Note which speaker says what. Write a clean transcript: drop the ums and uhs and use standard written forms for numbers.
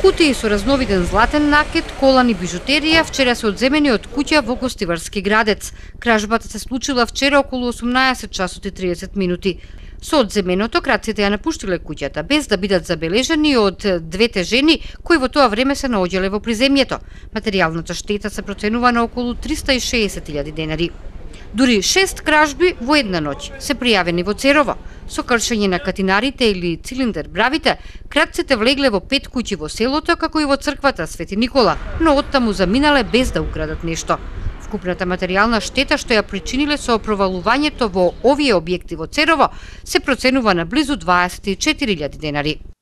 Speaker 1: Кутии со разновиден златен накет, колан и бижутерија вчера се одземени од куќа во Гостиварски градец. Кражбата се случила вчера околу 18 часот и 30 минути. Со одземеното крадците ја напуштиле куќата без да бидат забележани од двете жени кои во тоа време се наоѓале во приземјето. Материјалната штета се проценува на околу 360.000 денари. Дури 6 кражби во една ноќ се пријавени во Церово. Со кршење на катинарите или цилиндер бравите, крадците влегле во 5 куќи во селото, како и во црквата Свети Никола, но оттаму заминале без да украдат нешто. Вкупната материјална штета што ја причиниле со провалувањето во овие објекти во Церово се проценува на близу 24.000 денари.